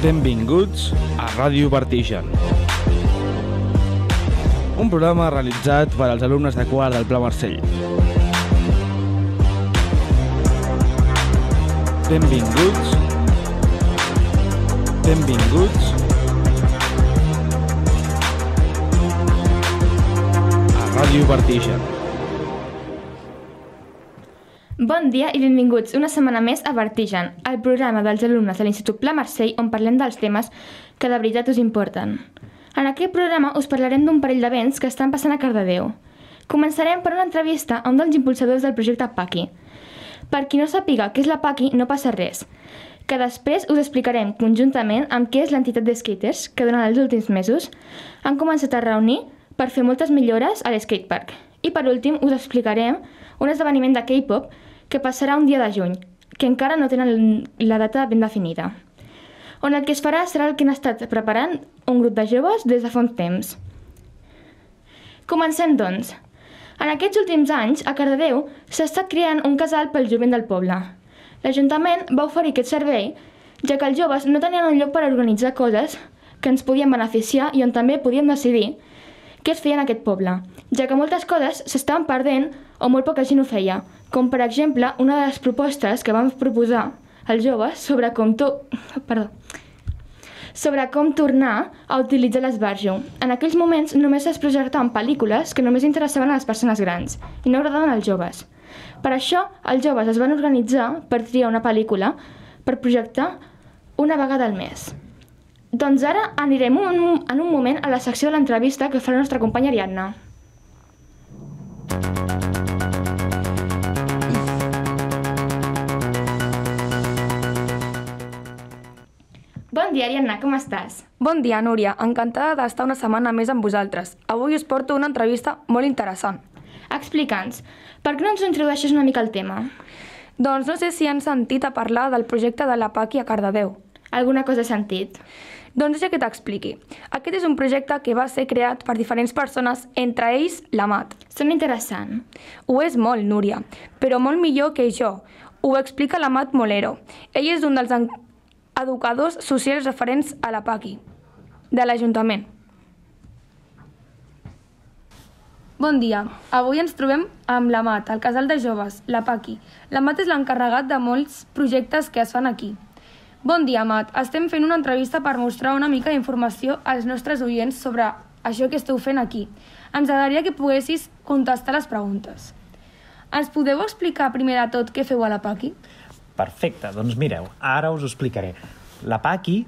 Benvinguts a Ràdio Vertigen, un programa realitzat per als alumnes de quart del Pla Marcell. Benvinguts a Ràdio Vertigen. Bon dia i benvinguts una setmana més a Vertigen, el programa dels alumnes de l'Institut Pla Marcell on parlem dels temes que de veritat us importen. En aquest programa us parlarem d'un parell d'events que estan passant a Cardedeu. Començarem per una entrevista a un dels impulsadors del projecte PACI. Per qui no sàpiga què és la PACI, no passa res, que després us explicarem conjuntament amb què és l'entitat de skaters que durant els últims mesos han començat a reunir per fer moltes millores a l'skatepark. I per últim us explicarem un esdeveniment de K-pop que passarà un dia de juny, que encara no tenen la data ben definida, on el que es farà serà el que han estat preparant un grup de joves des de fa un temps. Comencem, doncs. En aquests últims anys, a Cardedeu s'ha estat creant un casal pel jovent del poble. L'Ajuntament va oferir aquest servei, ja que els joves no tenien un lloc per organitzar coses que ens podien beneficiar i on també podíem decidir què es feia en aquest poble, ja que moltes coses s'estaven perdent o molt poca gent ho feia, com per exemple una de les propostes que vam proposar als joves sobre com tornar a utilitzar l'esbarjo. En aquells moments només es projectaven pel·lícules que només interessaven a les persones grans i no agradaven als joves. Per això, els joves es van organitzar per triar una pel·lícula per projectar una vegada al mes. Doncs ara anirem en un moment a la secció de l'entrevista que fa la nostra companya Ariadna. Bon dia, Ariadna, com estàs? Bon dia, Núria. Encantada d'estar una setmana més amb vosaltres. Avui us porto una entrevista molt interessant. Explica'ns, per què no ens introdueixes una mica al tema? Doncs no sé si han sentit a parlar del projecte de la PACI a Cardedeu. Alguna cosa he sentit? Doncs deixa que t'expliqui. Aquest és un projecte que va ser creat per diferents persones, entre ells l'Amat. Sembla interessant. Ho és molt, Núria, però molt millor que jo. Ho explica l'Amat Molero. Ell és un dels educadors socials referents a la PACI, de l'Ajuntament. Bon dia. Avui ens trobem amb l'Amat, el casal de joves, la PACI. L'Amat és l'encarregat de molts projectes que es fan aquí. Bon dia, Amat. Estem fent una entrevista per mostrar una mica d'informació als nostres oients sobre això que esteu fent aquí. Ens agradaria que poguessis contestar les preguntes. Ens podeu explicar primer de tot què feu a la PACI? Perfecte, doncs mireu, ara us ho explicaré. La PACI,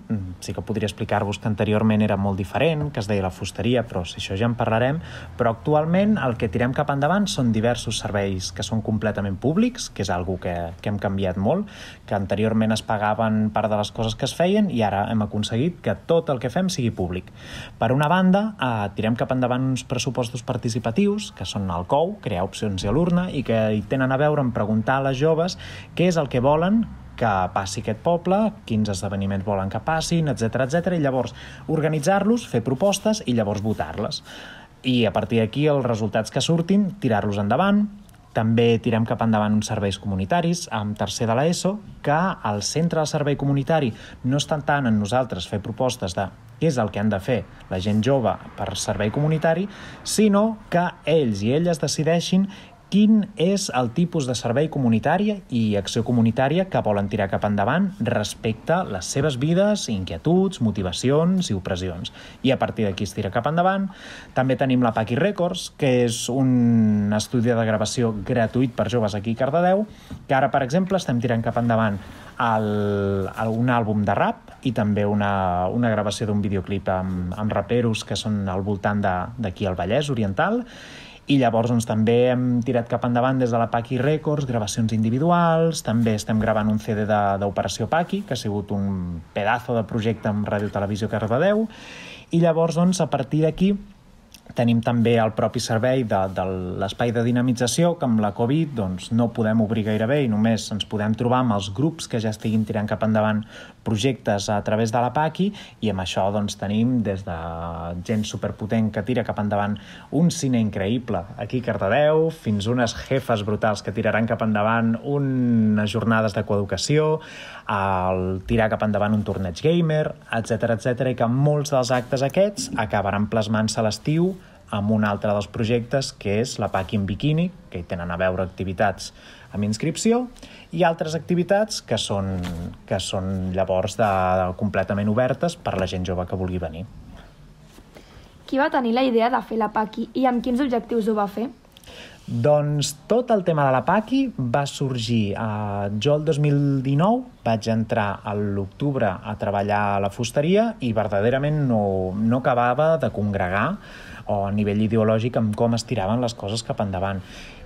sí que podria explicar-vos que anteriorment era molt diferent, que es deia la fusteria, però si això ja en parlarem, però actualment el que tirem cap endavant són diversos serveis que són completament públics, que és algo que hem canviat molt, que anteriorment es pagaven part de les coses que es feien i ara hem aconseguit que tot el que fem sigui públic. Per una banda, tirem cap endavant uns pressupostos participatius, que són el COU, crear opcions a l'urna, i que hi tenen a veure en preguntar a les joves què és el que volen que passi aquest poble, quins esdeveniments volen que passin, etc i llavors organitzar-los, fer propostes i llavors votar-les. I a partir d'aquí els resultats que surtin, tirar-los endavant. També tirem cap endavant uns serveis comunitaris amb tercer de l'ESO, que al centre del servei comunitari no estan tant en nosaltres fer propostes de què és el que han de fer la gent jove per servei comunitari, sinó que ells i elles decideixin quin és el tipus de servei comunitari i acció comunitària que volen tirar cap endavant respecte a les seves vides, inquietuds, motivacions i opressions. I a partir d'aquí es tira cap endavant. També tenim la PACI Records, que és un estudi de gravació gratuït per joves aquí a Cardedeu, que ara, per exemple, estem tirant cap endavant un àlbum de rap i també una gravació d'un videoclip amb raperos que són al voltant d'aquí al Vallès Oriental. I llavors també hem tirat cap endavant des de la PACI Records, gravacions individuals, també estem gravant un CD d'Operació PACI, que ha sigut un pedazo de projecte amb Ràdio Televisió Cardedeu, i llavors a partir d'aquí Tenim també el propi servei de l'espai de dinamització, que amb la Covid no podem obrir gairebé i només ens podem trobar amb els grups que ja estiguin tirant cap endavant projectes a través de la PACI, i amb això tenim des de gent superpotent que tira cap endavant un cine increïble aquí a Cardedeu, fins unes jefes brutals que tiraran cap endavant unes jornades de coeducació, el tirar cap endavant un torneig gamer, etc, i que molts dels actes aquests acabaran plasmant-se a l'estiu amb un altre dels projectes, que és la PACI en biquini, que hi tenen a veure activitats amb inscripció, i altres activitats que són llavors completament obertes per la gent jove que vulgui venir. Qui va tenir la idea de fer la PACI i amb quins objectius ho va fer? Doncs tot el tema de la PACI va sorgir jo el 2019, vaig entrar a l'octubre a treballar a la fusteria i verdaderament no acabava de congregar o a nivell ideològic amb com es tiraven les coses cap endavant.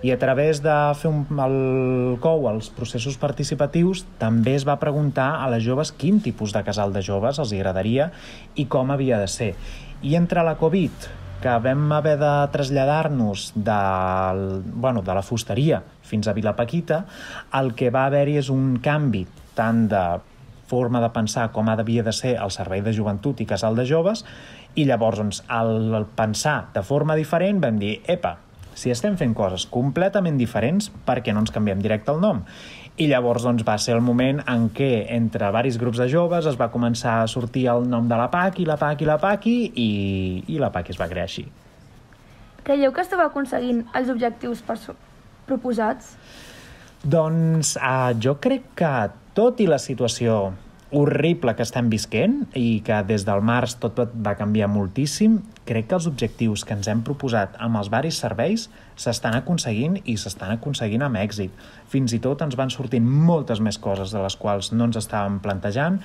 I a través de fer el COU, els processos participatius, també es va preguntar a les joves quin tipus de casal de joves els agradaria i com havia de ser. I entre la Covid, que vam haver de traslladar-nos de la fusteria fins a Vilapaquita, el que va haver-hi és un canvi tant de forma de pensar com havia de ser el servei de joventut i casal de joves, i llavors, al pensar de forma diferent, vam dir, epa, si estem fent coses completament diferents, per què no ens canviem directe el nom? I llavors va ser el moment en què entre varis grups de joves es va començar a sortir el nom de la PACI, la PACI, i la PACI es va crear així. Creieu que esteu aconseguint els objectius proposats? Doncs jo crec que tot i la situació horrible que estem visquent i que des del març tot va canviar moltíssim, crec que els objectius que ens hem proposat amb els varis serveis s'estan aconseguint i s'estan aconseguint amb èxit. Fins i tot ens van sortint moltes més coses de les quals no ens estàvem plantejant,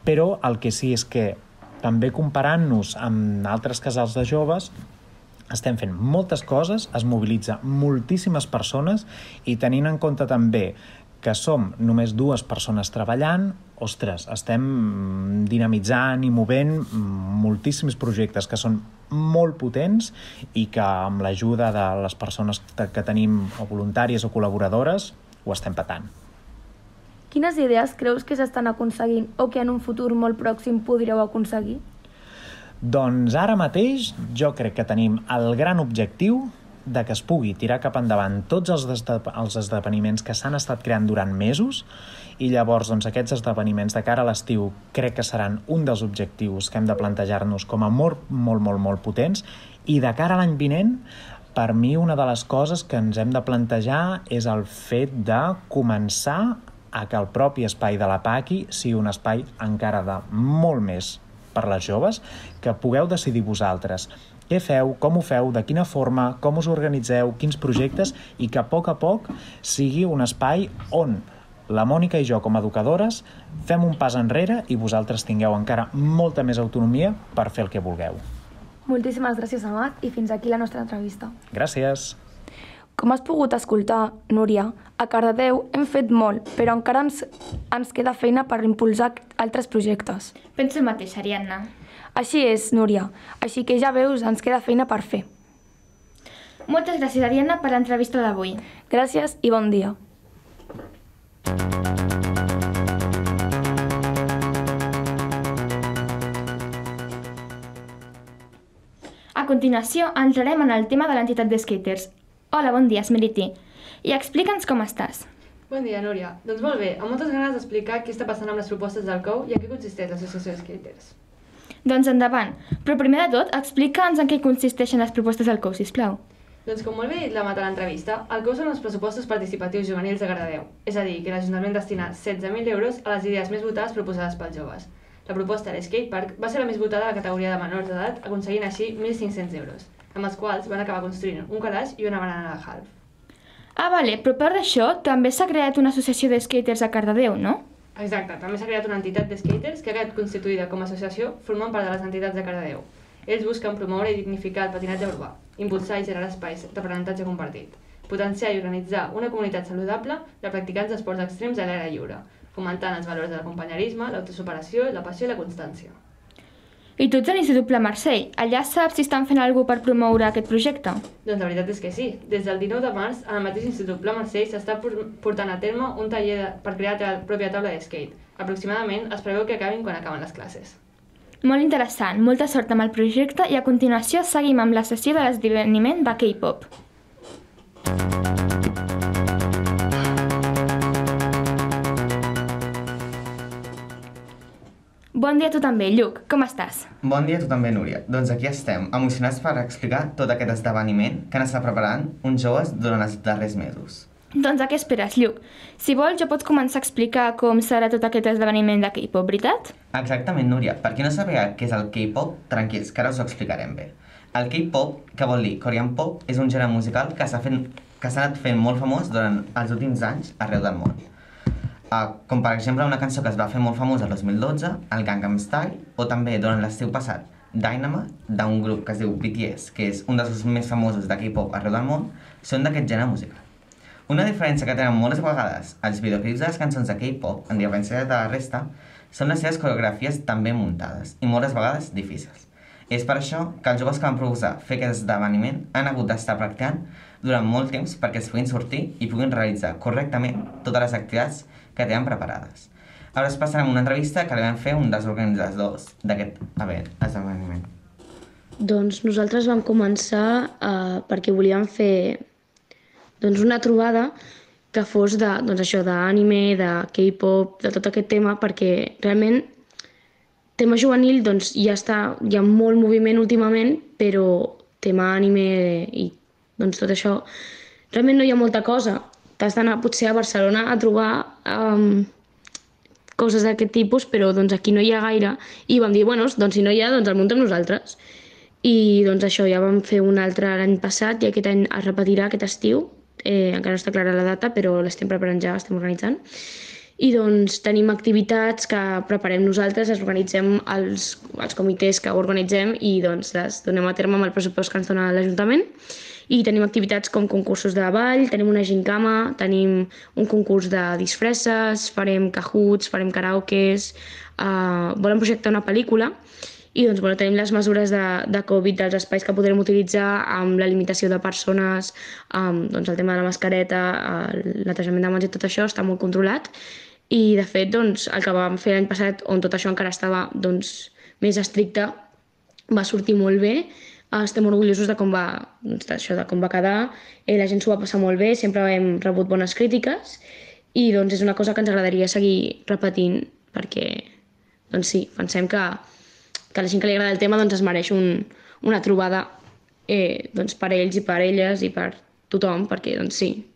però el que sí és que també comparant-nos amb altres casals de joves estem fent moltes coses, es mobilitza moltíssimes persones i tenint en compte també que som només 2 persones treballant, ostres, estem dinamitzant i movent moltíssims projectes que són molt potents i que amb l'ajuda de les persones que tenim o voluntàries o col·laboradores ho estem patant. Quines idees creus que s'estan aconseguint o que en un futur molt pròxim podríeu aconseguir? Doncs ara mateix jo crec que tenim el gran objectiu de que es pugui tirar cap endavant tots els esdeveniments que s'han estat creant durant mesos, i llavors aquests esdeveniments de cara a l'estiu crec que seran un dels objectius que hem de plantejar-nos com a molt potents, i de cara a l'any vinent, per mi una de les coses que ens hem de plantejar és el fet de començar a que el propi espai de la PACI sigui un espai encara de molt més per les joves, que pugueu decidir vosaltres què feu, com ho feu, de quina forma, com us organitzeu, quins projectes, i que a poc sigui un espai on la Mònica i jo, com a educadores, fem un pas enrere i vosaltres tingueu encara molta més autonomia per fer el que vulgueu. Moltíssimes gràcies, Amat, i fins aquí la nostra entrevista. Gràcies. Com has pogut escoltar, Núria, a Cardedeu hem fet molt, però encara ens queda feina per impulsar altres projectes. Penso el mateix, Ariadna. Així és, Núria. Així que ja veus, ens queda feina per fer. Moltes gràcies, Ariadna, per l'entrevista d'avui. Gràcies i bon dia. A continuació, entrarem en el tema de l'entitat de skaters. Hola, bon dia, Esmeriti. I explica'ns com estàs. Bon dia, Núria. Doncs molt bé, amb moltes ganes d'explicar què està passant amb les propostes del COU i en què consisteix l'associació de skaters. Doncs endavant. Però primer de tot, explica'ns en què consisteixen les propostes del COU, sisplau. Doncs com molt bé dit la Mat a l'entrevista, el COU són els pressupostos participatius juvenils de Cardedeu. És a dir, que l'Ajuntament destina 16.000 euros a les idees més votades proposades pels joves. La proposta de l'Skatepark va ser la més votada a la categoria de menors d'edat, aconseguint així 1.500 euros, amb els quals van acabar construint un calaix i una barana de half. Ah, vale, però a part d'això, també s'ha creat una associació de skaters a Cardedeu, no? Exacte, també s'ha creat una entitat de skaters que ha quedat constituïda com a associació formant part de les entitats de Cardedeu. Ells busquen promoure i dignificar el patinatge urbà, impulsar i generar espais d'aprenentatge compartit, potenciar i organitzar una comunitat saludable de practicants d'esports extrems a l'aire lliure, fomentant els valors de l'acompanyarisme, l'autosuperació, la passió i la constància. I tu ets a l'Institut Pla Marcell. Allà saps si estan fent alguna cosa per promoure aquest projecte? Doncs la veritat és que sí. Des del 19 de març, al mateix Institut Pla Marcell s'està portant a terme un taller per crear la pròpia taula de skate. Aproximadament es preveu que acabin quan acaben les classes. Molt interessant, molta sort amb el projecte i a continuació seguim amb la sessió de l'esdeveniment de K-pop. Bon dia a tu també, Lluc. Com estàs? Bon dia a tu també, Núria. Doncs aquí estem, emocionats per explicar tot aquest esdeveniment que han estat preparant uns joves durant els darrers mesos. Doncs a què esperes, Lluc? Si vols, jo pots començar a explicar com serà tot aquest esdeveniment de K-pop, veritat? Exactament, Núria. Per qui no sabia què és el K-pop, tranquils, que ara us ho explicarem bé. El K-pop, que vol dir Korean Pop, és un gènere musical que s'ha anat fent molt famós durant els últims anys arreu del món. Com per exemple una cançó que es va fer molt famosa el 2012, el Gangnam Style, o també durant l'estiu passat, Dynamite, d'un grup que es diu BTS, que és un dels grups més famosos de K-pop arreu del món, són d'aquest gènere musical. Una diferència que tenen moltes vegades els videoclips de les cançons de K-pop, en diferència de la resta, són les seves coreografies tan ben muntades i moltes vegades difícils. És per això que els joves que van proposar fer aquest esdeveniment han hagut d'estar practicant durant molt temps perquè es puguin sortir i puguin realitzar correctament totes les activitats que tenen preparades. Ara us passarem una entrevista que li vam fer un dels organitzadors d'aquest esdeveniment. Doncs nosaltres vam començar perquè volíem fer una trobada que fos d'anime, de K-pop, de tot aquest tema, perquè realment tema juvenil hi ha molt moviment últimament, però tema anime i tot això, realment no hi ha molta cosa. T'has d'anar potser a Barcelona a trobar coses d'aquest tipus, però aquí no hi ha gaire. I vam dir, si no hi ha, el muntem nosaltres. I això, ja vam fer un altre l'any passat i aquest any es repetirà aquest estiu. Encara no està clara la data, però l'estem preparant ja, estem organitzant. I tenim activitats que preparem nosaltres, les organitzem els comitès que ho organitzem i les donem a terme amb el pressupost que ens dona l'Ajuntament. I tenim activitats com concursos de ball, tenim una gincama, tenim un concurs de disfresses, farem cahoots, farem karaokes, volem projectar una pel·lícula i tenim les mesures de Covid dels espais que podrem utilitzar amb la limitació de persones, el tema de la mascareta, el netejament de mans i tot això està molt controlat i de fet el que vam fer l'any passat on tot això encara estava més estricte va sortir molt bé. Estem orgullosos de com va quedar, la gent s'ho va passar molt bé, sempre hem rebut bones crítiques i és una cosa que ens agradaria seguir repetint perquè sí, pensem que a la gent que li agrada el tema es mereix una trobada per ells i per elles i per tothom, perquè sí,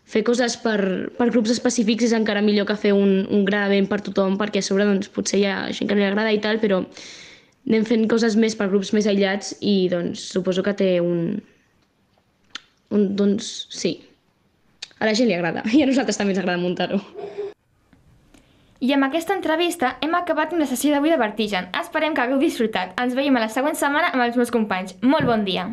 fer coses per grups específics és encara millor que fer un gran event per tothom, perquè a sobre potser hi ha gent que no li agrada i tal, però anem fent coses més per grups més aïllats i suposo que té sí, a la gent li agrada i a nosaltres també ens agrada muntar-ho. I amb aquesta entrevista hem acabat amb la sessió d'avui de Vertigen. Esperem que hagueu disfrutat. Ens veiem a la següent setmana amb els meus companys. Molt bon dia!